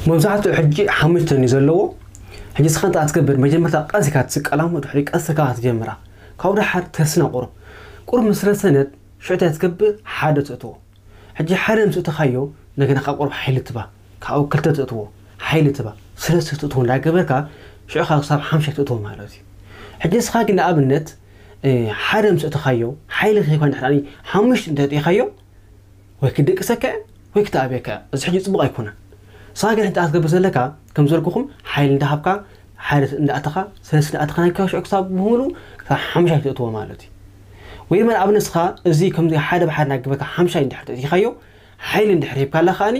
መብዛሕትኡ ሕጂ ሓሙሽተ እዩ ዘለዎ። ሕጂ ንስኻ እንታይ ትገብር? መጀመርታ ቀስ ኢልካ ትስቀላ፣ ድሕሪ ቀስ ኢልካ ትጀምራ። ካብኡ ደሓር ተስና ቁሩብ። ቁሩብ ምስ ረሰነት ሽዑ እንታይ ትገብር? ሓደ ትእትዎ። ሕጂ ሓደ ምስ እተኻዮ፣ እንደገና ካብ ቁሩብ ሓይሊ ትባ። ካብኡ ክልተ ትእትዎ፣ ሓይሊ ትባ። ሰለስተ ትእትዎ እንዳገበርካ፣ ሽዑ ካብ ክሳብ ሓምሻይ ትእትዎ ማለት እዩ። ሕጂ ንስኻ ግን ንኣብነት፣ እ፣ ሓደ ምስ እተኻዮ፣ ሓይሊ ከይኮነ ድሕሪ ሓሙሽተ እንተእቲኻዮ፣ ወይ ክድቅሰካ እያ፣ ወይ ክተኣብየካ እያ። እዚ ሕጂ ጽቡቕ ኣይኮነን። ንስኻ ግን እንታይ ክትገብር ዘለካ፣ ከም ዝበልኩኹም፣ ሓይሊ እንዳሃብካ፣ ሓደ እንዳኣተኻ፣ ሰለስተ እንዳኣተኻ፣ ናይ ሽዑ ክሳብ ብምሉእ ክሳብ ሓምሻይ ትእትዎ ማለት እዩ። ወይ ድማ ንኣብነት ንስኻ እዚ ከምዚ ሓደ ብሓደ እናገበርካ ሓምሻይ እንድሕር ተእቲኻዮ፣ ሓይሊ እንድሕር ሂብካላ ከኣኒ፣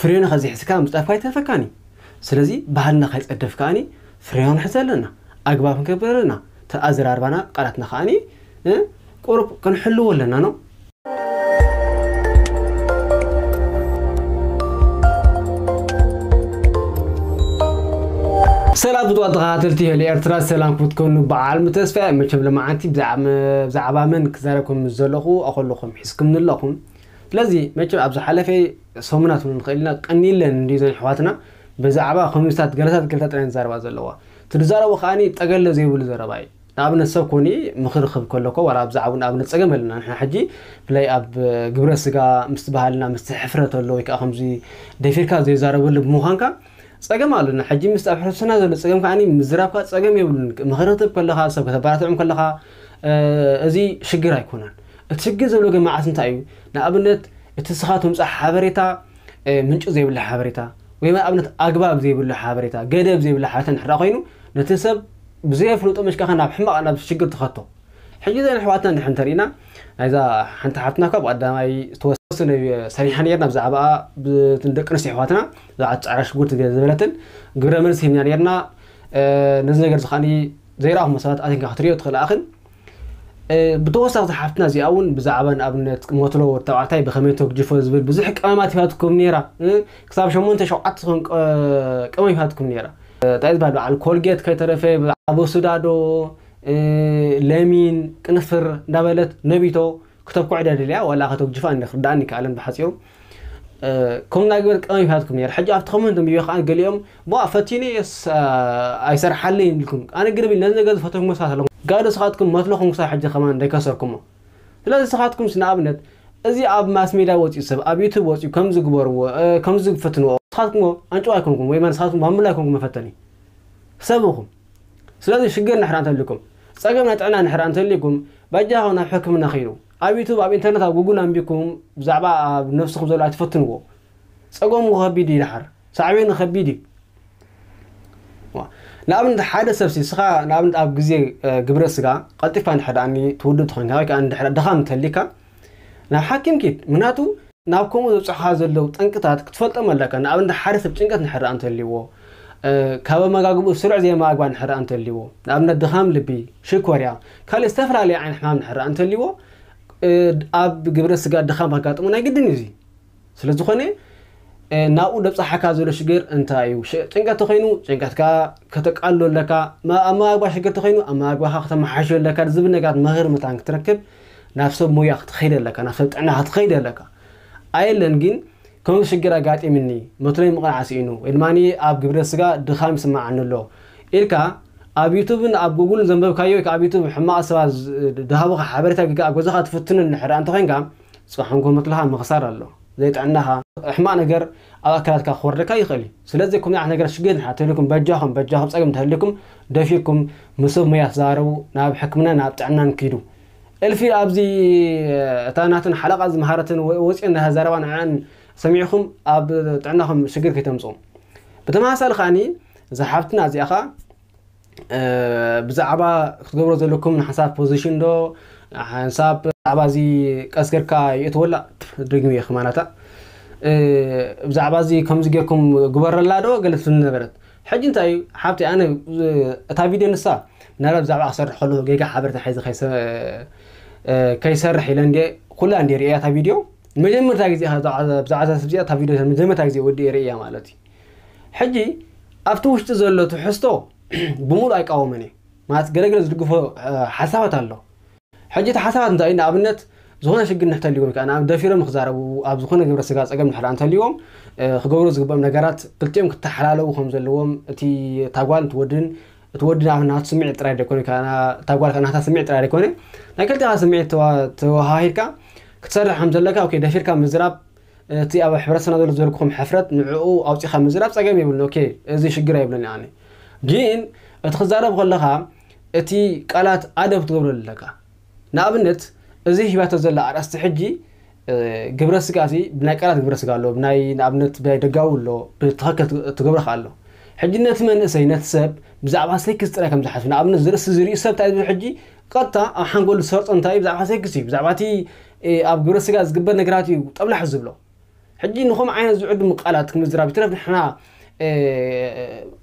ፍሬኑ ከዘይሕዝካ ምጽዳፍካ ኣይተርፈካኒ። ስለዚ ባህልና ከይጸደፍ ከኣኒ፣ ፍሬኑ ንሕዝ ኣለና። ኣግባብ ክንገብር ኣለና። እቲ ኣዘራርባና፣ ቃላትና ከኣኒ፣ እ፣ ቁሩብ ክንሕልዎ ኣለና ነው። ሰላም ፍትዋት ተኸታተልቲ ሄሎ ኤርትራ፣ ሰላም ክትኮኑ ብዓል ምተስፋ። መቸም ለማዓንቲ ብዛዕባ፣ ብዛዕባ መን ክዛረብ ከም ዘለኹ ኣኸለኹም ሒዝኩም ኣለኹም። ስለዚ መቸም ኣብ ዝሓለፈ ሰሙናት እውን ንኽእል ኢና ቀኒለን እንዲ ዘን ኣሕዋትና ብዛዕባ ኮሚኒስታት ገለታት ገለታት ጥራይ ዝዛረባ ዘለዋ። እቲ ዝዛረቡ ከኣኒ ጠገለ ዘይብሉ ዘረባ እዩ። ንኣብነት ሰብ ኮኒ ምኽሪ ክህብ ከለኮ ዋላ ብዛዕባ ንኣብነት ጸገም ኣለና። ንሕና ሕጂ ብፍላይ ኣብ ግብረ ስጋ ምስቲ ባህልና ምስቲ ሕፍረት ኣሎ ወይ ከዓ ከምዚ ደፊርካ ዘይዛረበሉ ብምዃንካ ጸገም ኣለና። ሕጂ ምስቲ ኣብ ሕብረተሰብና ዘሎ ጸገም ከኣኒ ምዝራብካ ጸገም የብሉን። ምኽሪ ክትህብ ከለኻ፣ ሰብ ከተበራትዖም ከለኻ፣ እ፣ እዚ ሽግር ኣይኮነን። እቲ ሽግር ዘሎ ግን መዓት እንታይ እዩ? ንኣብነት እቲ ንስኻ ተምጽኦ ሓበሬታ፣ እ፣ ምንጪ ዘይብሉ ሓበሬታ ወይ ንኣብነት ኣግባብ ዘይብሉ ሓበሬታ፣ ገደብ ዘይብሉ ሓበሬታ እንድሕር ኮይኑ ነቲ ሰብ ብዘየፍልጦ መሽካኻ ናብ ሕማቕ ናብ ሽግር ትኸቶ። ሕጂ እዘን ኣሕዋትና እንድሕር እንተሪእና፣ ናይዛ ሓንቲ ሓፍትና ካብ ቀዳማይ ዝተወሰነ ሰሪሓ ነርና ብዛዕባኣ፣ ብ-፣ ደቂ ኣንስትዮ ኣሕዋትና፣ ብዛዕባ ጻዕዳ ሽጉርቲ ገለ ዝበለትን ግብረ መልሲ ሂብና ነርና። እ፣ ነዚ ነገር እዚ ከኣኒ ዘይረኣኹሞ ሰባት ኣቲንካ ክትሪኦ ትኽእል ኣኽን። እ፣ ብተወሳኺ እዛ ሓፍትና እዚኣ እውን ብዛዕባ ንኣብነት ሞትሎ ወዲ ተባዕታይ ብኸመይ ተግጅፎ ዝብል ብዙሕ ቀመማት ሂባትኩም ነይራ። እ፣ ክሳብ ሸሞንተ ሸውዓተ ዝኾን ቀ-፣ ቀመም ሂባትኩም ነይራ። እ፣ እንታይ ዝበሃል በዓል ኮልጌት ከይተረፈ፣ ብዛዕባ ቦስዳዶ፣ እ፣ ለሚን፣ ቅንፍር እንዳበለት ነቢቶ ክተብኩዕ እያ ደልያ፣ ዋላ ከተጉጅፋ እንደ ክርዳእኒ ይከኣለን ብሓጺሩ። እ፣ ከም ናይ ግበር ቀመም ይሃትኩም ነይር። ሕጂ ኣብቲ ኮመንት ንብዮ ከኣ ገሊኦም፣ "ቧ፣ ፈቲነ የስ፣ እ፣ ኣይሰርሓለይን" ኢልኩም። ኣነ ግን ነዚ ነገር ዝፈተንኩሞ ሰባት ኣለኹም። ጋዶ ስኻትኩም መትለኹም ክሳብ ሕጂ ከማን እንዳይከሰርኩሞ። ስለዚ ስኻትኩምስ ንኣብነት፣ እዚ ኣብ ማስ ሜድያ ወጺኡ ሰብ፣ ኣብ ዩቱብ ወጺኡ ከምዚ ግበርዎ፣ እ፣ ከምዚ ፈትንዎ። ስኻትኩምዎ ኣንጭዋ ኣይኮንኩም፣ ወይ ማለት ስኻትኩም ማሙላ ኣይኮንኩም መፈተኒ። ሰብ ኢኹም። ስለዚ ሽግር እንድሕር እንተልዩኩም፣ ጸገም ናይ ጥዕና እንድሕር እንተልዩኩም፣ በጃኹም ናብ ሕክምና ኺዱ። ኣብ ዩቱብ፣ ኣብ ኢንተርነት፣ ኣብ ጉግል ኣንቢብኩም ብዛዕባ ኣብ ነብስኹም ዘሎ ኣይትፈትንዎ። ጸገሙ ከቢድ እዩ ደሓር። ሳዕቤኑ ከቢድ እዩ። ዋ። ንኣብነት ሓደ ሰብ ሲ፣ ንስኻ ንኣብነት ኣብ ግዜ፣ እ፣ ግብረ ስጋ ቀልጢፍካ እንድሕር ደኣ ትውድእ ተኾይንካ ወይ ከኣ እንድሕር ድኻም እንተልዩካ፣ ናብ ሓኪም ኪድ። ምኽንያቱ ናብ ከምኡ ዘብጽሑኻ ዘለዉ ጠንቅታት ክትፈልጦም ኣለካ። ንኣብነት ሓደ ሰብ ጭንቀት እንድሕር ደኣ እንተልዩዎ፣ እ፣ ካብ ኣመጋግብኡ ስሩዕ ዘይመጋግባ እንድሕር ደኣ እንተልዩዎ፣ ንኣብነት ድኻም ልቢ፣ ሽኮርያ፣ ካልእ ዝተፈላለየ ዓይነት ሕማም እንድሕር ደኣ እንተልዩዎ፣ እ፣ ኣብ ግብረ ስጋ ድኻም ከጋጥሞ ናይ ግድን እዩ እዚ። ስለ ዝኾነ፣ እ፣ ናብኡ ደብጽሓካ ዘሎ ሽግር እንታይ እዩ? ሽ-፣ ጭንቀት ተኾይኑ ጭንቀትካ ከተቃልሎ ኣለካ፣ ማ-፣ ኣመጋግባ ሽግር ተኾይኑ ኣመጋግባኻ ከተመሓይሾ ኣለካ ዝብል ነገራት ምኽሪ መታን ክትረክብ ናብ ሰብ ሞያ ክትኸይድ ኣለካ፣ ናብ ሰብ ጥዕና ክትኸይድ ኣለካ። ኣየለን ግን ከምዚ ሽግር ኣጋጢምኒ፣ መትሎይ ምቕናዕ ስኢኑ፣ ወይ ድማ ኣብ ግብረ ስጋ ድኻም ይስምዓኒ ኣሎ ኢልካ ኣብ ዩቱብን ኣብ ጉግልን ዘንበብካዮ ወይ ከኣ ኣብ ዩቱብ ሕማቕ ሰባት ዝ-፣ ድሃቡኻ ሓበሬታ ጌጋ ኣብ ገዛኻ ትፍትኑ እንድሕር ደኣ እንተኾይንካ፣ ጽባሕ ንግሆ መትሎኻ ምኽሳር ኣሎ። ዘይጥዕናኻ፣ ሕማቕ ነገር ኣብ ኣካላትካ ክወርደካ ይኽእል እዩ። ስለዚ ከምዚ ዓይነት ነገር ሽግር እንድሕር ተልዩኩም በጃኹም፣ በጃኹም ጸገም እንተልዩኩም ደፊርኩም ምስ ሰብ ሞያ ተዛረቡ፣ ናብ ሕክምና ናብ ጥዕናን ኪዱ። እልፊ ኣብዚ እታ ናተን ሓለቓ ዝመሃረትን ወ-፣ ወጺኤን እናተዛረባ ንዕን ሰሚዕኹም ኣብ ጥዕናኹም ሽግር ከይተምጽኡ። ብተመሳሳሊ ከኣኒ እዛ ሓፍትና እዚኣ ኸኣ እ፣ ብዛዕባ ክትገብሮ ዘለኩም ንሓንሳብ ፖዚሽን ዶ፣ ሓንሳብ ብዛዕባ እዚ ቀስ ጌርካ የእትወላ፣ ደግሚ እየ ክማናታ። እ፣ ብዛዕባ እዚ ከምዚ ጌርኩም ግበረላ ዶ ገለ ትብል ነበረት። ሕጂ እንታይ እዩ፣ ሓብቲ፣ ኣነ፣ እ፣ እታ ቪድዮ ንሳ፣ ምናልባት ብዛዕባ ክሰርሕ ከለኹ ጌጋ ሓበሬታ ሒዘ ከይሰ-፣ እ፣ ከይሰርሕ ኢለ እንድየ፣ ኩላ እንድየ ርእያ እታ ቪድዮ። መጀመርታ ግዜ እያ ብዛዕባ፣ ብዛዕባ እዛ ሰብ እዚኣ እታ ቪድዮ መጀመርታ ግዜ ወዲኤ ርእያ ማለት እዩ። ሕጂ ኣብቲ ውሽጢ ዘሎ ትሕዝቶ ብምሉእ ኣይቃወምን እየ። ማለት ገለገለ ዝድግፎ፣ እ፣ ሓሳባት ኣሎ። ሕጂ እቲ ሓሳባት እንታይ እዩ? ንኣብነት፣ ዝኾነ ሽግር እንተልይዎም ከኣ ንኣብነት ደፊሮም ክዛረቡ ኣብ ዝኾነ ግብረ ስጋ ጸገም ድሕር እንተልይዎም ክገብሩ ዝግብኦም ነገራት ክልቲኦም ክተሓላለዉ ከም ዘለዎም እቲ ታጓል ትወድን እቲ ወዲ ናቱ ስምዒት ጥራይ ደይኮነ ታጓል ናታ ስምዒት ጥራይ ደይኮነ ናይ ክልቲኻ ስምዒት ተዋሃሂድካ ክትሰርሕ ከም ዘለካ ደፊርካ ምዝራብ እቲ ኣብ ሕብረተሰብና ዘሎ ዝበልኩኹም ሕፍረት ንዕኡ ኣውፂኻ ምዝራብ ፀገም የብሉን። ኦኬ፣ እዚ ሽግር ኣይብለኒ ኣነ። ግን እቲ ክዛረብ ከለኻ እቲ ቃላት ኣደብ ክትገብረሉ ኣለካ። ንኣብነት እዚ ሂባቶ ዘላ ኣርእስቲ ሕጂ ግብረ ስጋ ሲ ብናይ ቃላት ግብረ ስጋ ኣሎ፣ ብናይ ንኣብነት ብናይ ደጋዊ ኣሎ፣ ብትኸክል ትገብረ ከ ኣሎ። ሕጂ ነቲ መንእሰይ ነቲ ሰብ ብዛዕባ ሴክስ ጥራይ ከም ዝሓስብ ንኣብነት ዝርእሲ ዝርእዩ ሰብ እንታይ ዝብል ሕጂ ቀጥታ ኣብ ሓንጎል ዝሰርጾ እንታይ እዩ? ብዛዕባ ሴክስ እዩ፣ ብዛዕባ እቲ ኣብ ግብረ ስጋ ዝግበር ነገራት እዩ ጠብላሕ ዝብሎ። ሕጂ ንኹም ዓይነት ዝዕድሙ ቃላት ክምዝራብ ይትረፍ ንሕና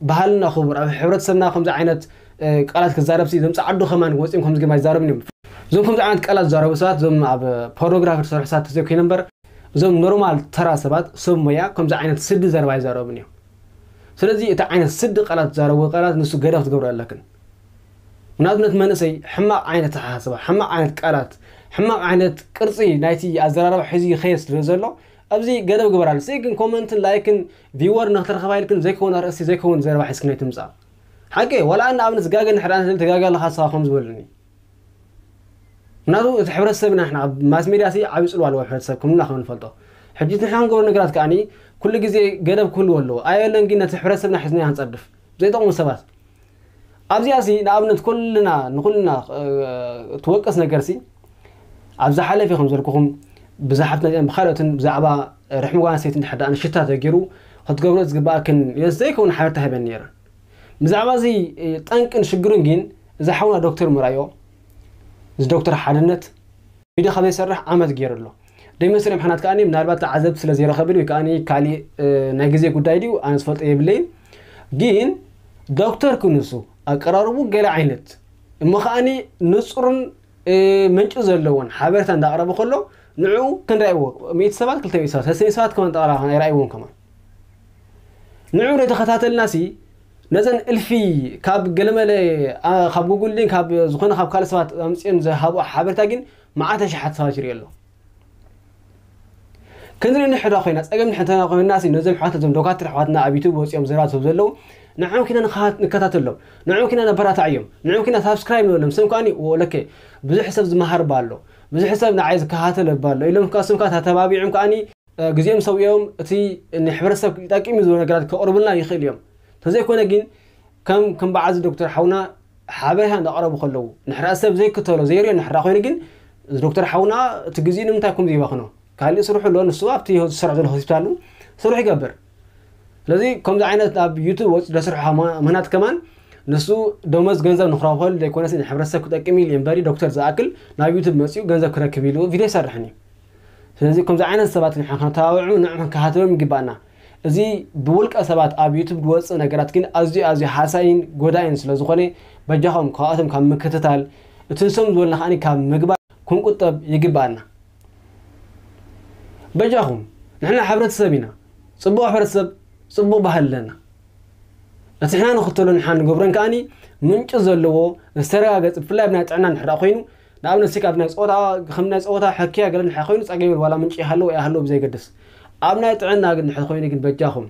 ባህልና ክቡር ኣብ ሕብረተሰብና ከምዚ ዓይነት ቃላት ክዛረብ ሲ ዘምፃ ዓዱ ከማን ወፂኦም ከምዚ ግርማ ይዛረብን እዮም። እዞም ከምዚ ዓይነት ቃላት ዝዛረቡ ሰባት እዞም ኣብ ፖርኖግራፊ ዝሰርሑ ሰባት ተዘይኮይነ እምበር እዞም ኖርማል ተራ ሰባት ሰብ ሞያ ከምዚ ዓይነት ስዲ ዘረባ ይዛረቡን እዮም። ስለዚ እቲ ዓይነት ስዲ ቃላት ዝዛረቡ ቃላት ንሱ ገደብ ክትገብሩ ኣለክን። ምክንያቱ ነቲ መንእሰይ ሕማቕ ዓይነት ኣተሓሳስባ፣ ሕማቕ ዓይነት ቃላት፣ ሕማቕ ዓይነት ቅርፂ ናይቲ ኣዘራርባ ሒዙ ይኸየድ ስለ ዘሎ ኣብዚ ገደብ ግበራሉ። ሲ ግን ኮመንትን ላይክን ቪወር ንክትረኸባ ኢልክን ዘይከውን ኣርእስቲ ዘይከውን ዘረባ ሒዝክን ኣይትምፃእ። ሓቂ ዋላ ኣነ ኣብነት ጋገ ንሕር ኣነ ተጋጋ ኣለካ ስኻ ከም ዝበሉኒ ምክንያቱ እቲ ሕብረተሰብና ንሕና ኣብ ማስ ሜድያ ሲ ዓብዪ ፅልዋ ኣለዎ ሕብረተሰብ ከምና ከም ንፈልጦ ሕጂ እቲ ንሕና ንገብሮ ነገራት ከዓኒ ኩሉ ግዜ ገደብ ክህልዎ ኣለዎ ኣየለን ግን ነቲ ሕብረተሰብና ሒዝና ክንፀድፍ ዘይጠቕሙ ሰባት ኣብዚኣ ሲ ንኣብነት ኩልና ንኩልና ትወቅስ ነገር ሲ ኣብ ዝሓለፈ ከም ዘልኩኹም ብዛሓት መፅአን ብካልኦትን ብዛዕባ ርሕሚ ጓል ኣንስተይቲ እንድሕር ደኣ ንሽታ ተገይሩ ክትገብሮ ዝግባኣክን ዘይከውን ሓበርታ ሂበን ነይረን። ብዛዕባ እዚ ጠንቅን ሽግሩን ግን እዚ ሓውና ዶክተር ምርኣዮ እዚ ዶክተር ሓድነት ቪድዮ ካብ ዘይሰርሕ ዓመት ገይሩ ኣሎ። ደይመስል ምክንያት ከኣ ምናልባት ተዓዘብቲ ስለ ዘይረኸብን ወይ ከኣ ካሊእ ናይ ግዜ ጉዳይ ድዩ ኣነ ዝፈልጦ የብለይን። ግን ዶክተር ክንሱ ኣቀራርቡ ገለ ዓይነት እሞ ከኣ ንፁርን ምንጪ ዘለዎን ሓበሬታ እንዳቕረበ ከሎ ንዕኡ ክንረእዎ ሚእቲ ሰባት ክልተ ሚእቲ ሰባት ሰለስተ ሚእቲ ሰባት ከማን ጠቕላላ ኣይረእይዎን ከማን ንዕኡ ዘይተኸታተልና ሲ ነዘን እልፊ ካብ ገለመለ ካብ ጉጉል ድን ካብ ዝኾነ ካብ ካልእ ሰባት ኣምፅኦም ዝሃብኦ ሓበሬታ ግን መዓት ኣሽሓት ሰባት ይርኢ ኣሎ። ክንርኢ ንሕዳ ኮይና ፀገም ንሕተና ኮይና ሲ ነዞም ኣሕዋት እዞም ዶካትር ኣሕዋትና ኣብ ዩቱብ ወፂኦም ዘረባ ዝህቡ ዘለዉ ንዕኦም ኪና ንከታተሎም ንዕኦም ኪና ነበራታዕዮም ንዕኦም ኪና ሳብስክራይብ ንበሎም ስም ከዓኒ ወለከ ብዙሕ ሰብ ዝመሃር ባ ኣሎ ብዙሕ ሰብ ንዓይ ዝከታተል ባ ኣሎ ኢሎም ከስም ከዓ ተተባቢዖም ከዓኒ ግዜኦም ሰዊኦም እቲ ንሕብረተሰብ ይጠቅም እዩ ዝብሎ ነገራት ከቕርቡልና ይኽእል እዮም። ተዘይኮነ ግን ከም ከም በዓዚ ዶክተር ሓውና ሓበሬታ እንዳቕረቡ ከለዉ ንሕራ ሰብ ዘይክተሎ ዘይሪኦ ንሕራ ኮይኑ ግን እዚ ዶክተር ሓውና እቲ ግዜ ንምንታይ ከም ዘይባኽኖ ካሊእ ስርሑ ኣሎ ንሱ ኣብቲ ዝሰርሕ ዘሎ ሆስፒታሉ ስርሑ ይገብር። ስለዚ ከምዚ ዓይነት ኣብ ዩቱብ ወፂ ዘስርሑ ምህናት ከማን ንሱ ደሞዝ ገንዘብ ንክረኽበሉ ዘይኮነስ ንሕብረተሰብ ክጠቅም ኢሉ እምበሪ ዶክተር ዝኣክል ናብ ዩቱብ መፂኡ ገንዘብ ክረክብ ኢሉ ቪድዮ ይሰርሕን እዩ። ስለዚ ከምዚ ዓይነት ሰባት ንሕና ክንተባብዑ ንዕም ክንከታተሎም ይግባኣና። እዚ ብውልቀ ሰባት ኣብ ዩቱብ ዝወፅእ ነገራት ግን ኣዝዩ ኣዝዩ ሃሳይን ጎዳይን ስለ ዝኾነ በጃኹም ካብኣቶም ካብ ምክትታል እቲ ንሶም ዝበሉና ከዓኒ ካብ ምግባር ክንቁጠብ ይግባኣና። በጃኹም ንሕና ሕብረተሰብ ኢና። ፅቡቕ ሕብረተሰብ ፅቡቕ ባህሊ ኣለና። እቲ ሕና ንኽተሎ ንሓ ንገብረን ከዓኒ ምንጪ ዘለዎ ዝተረጋገፅ ብፍላይ ብናይ ጥዕና ንሕዳ ኮይኑ ንኣብነት ሲ ካብ ናይ ፆታ ከም ናይ ፆታ ሕክያ ገለ ንሕ ኮይኑ ፀገም የብል ዋላ ምንጪ ይሃለዎ ኣይሃለዎ ብዘይገድስ ኣብ ናይ ጥዕና ግን ንሕ ኮይኑ ግን በጃኹም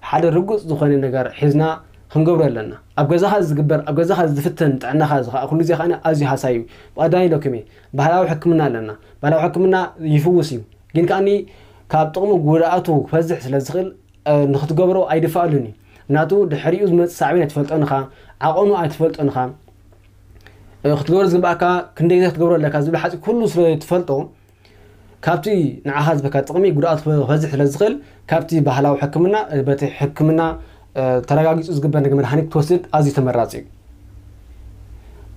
ሓደ ርጉፅ ዝኾነ ነገር ሒዝና ክንገብሮ ኣለና። ኣብ ገዛኻ ዝግበር ኣብ ገዛኻ ዝፍተን ጥዕናኻ ዝኸዓ ኩሉ ግዜ ከዓ ኣዝዩ ሃሳዩ ብቀዳሚ ኢለኩም እየ። ባህላዊ ሕክምና ኣለና። ባህላዊ ሕክምና ይፍውስ እዩ ግን ከዓኒ ካብ ጥቕሙ ጉድኣቱ ክበዝሕ ስለ ዝኽእል ንክትገብሮ ኣይድፋኣሉን እዩ። ምክንያቱ ድሕሪኡ ዝመፅእ ሳዕቤን ኣይትፈልጦን ኢኻ፣ ዓቐኑ ኣይትፈልጦን ኢኻ፣ ክትገብሮ ዝግባኣካ ክንደይ ግዜ ክትገብሮ ኣለካ ዝብል ሓፂ ኩሉ ስለ ትፈልጦ ካብቲ ንዓኻ ዝበካ ጥቕሚ ጉድኣቱ ክበዝሕ ስለ ዝኽእል ካብቲ ባህላዊ ሕክምና በቲ ሕክምና ተረጋጊፁ ዝግበር ነገር መድሃኒት ክትወስድ ኣዝዩ ተመራፂ እዩ።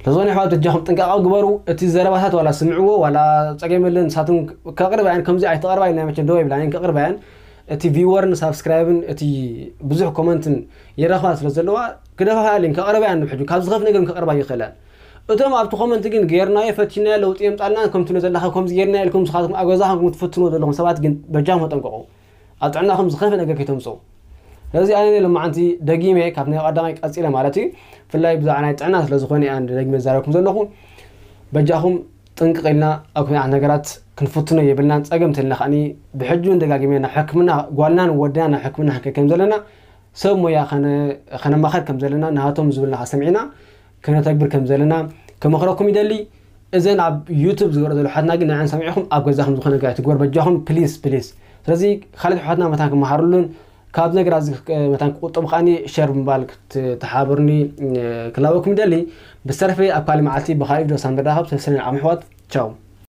ለዞን ኣሕዋት በጃኹም ጥንቃቐ ግበሩ። እቲ ዘረባታት ዋላ ስምዕዎ ዋላ ጸገም የለን ንሳቶም ከቕርባያን ከምዚ ኣይተቐርባ ኢልና መቸም ደው ይብላን ከቕርባያን እቲ ቪወርን ሳብስክራይብን እቲ ብዙሕ ኮመንትን የረኽባ ስለ ዘለዋ ክደፋፋ ኣለን ከቕርባያን ንብሕጁ ካብ ዝኸፍ ነገር ከቕርባ ይኽእላን እቶም ኣብቲ ኮመንት ግን ጌርናዮ ፈቲናዮ ለውጢ የምጻልና ከምቲ ዘለኻ ከምዚ ጌርና ኢልኩም ንስኻትኩም ኣብ ገዛኹም ትፍትንዎ ዘለኹም ሰባት ግን በጃኹም ተጠንቀቑ። ኣብ ጥዕናኹም ዝኸፍእ ነገር ከይተምፅኡ። ስለዚ ኣነ ሎማዓንቲ ደጊመ ካብ ናይ ቀዳማይ ቀፂለ ማለት እዩ ብፍላይ ብዛዕባ ናይ ጥዕና ስለዝኾነ እያ ደጊመ ዝዛረብኩም ዘለኹ። በጃኹም ጥንቅቕ ኢልና ኣብ ከምዚ ዓይነት ነገራት ክንፍትኖ የብልናን። ጸገም ተልና ከዓኒ ብሕጂ እውን ደጋጊመ ናብ ሕክምና ጓልናን ወድና ናብ ሕክምና ክንከይድ ከም ዘለና ሰብ ሞያ ከነ- ከነማኸር ከም ዘለና ናቶም ዝብልና ሰሚዕና ክነተግብር ከም ዘለና ክመኽረኩም ይደሊ። እዘን ኣብ ዩቱብ ዝገብረ ዘሎ ሓትና ግን ንዐን ሰሚዕኹም ኣብ ገዛኹም ዝኾነ ነገር ኣይትግበር በጃኹም ፕሊስ ፕሊስ። ስለዚ ካልኦት ሓትና መታን ክመሃሩሉን ካብ ነገር ኣዚ መታን ክቁጠቡ ከዓኒ ሸር ብምባል ክትተሓበሩኒ ክላበኩም ይደሊ። ብዝተረፈ ኣብ ካልእ መዓልቲ ብካልእ ቪድዮ ሳንበዳኸብ ሰሰነን ዓም ኣሕዋት ቻው።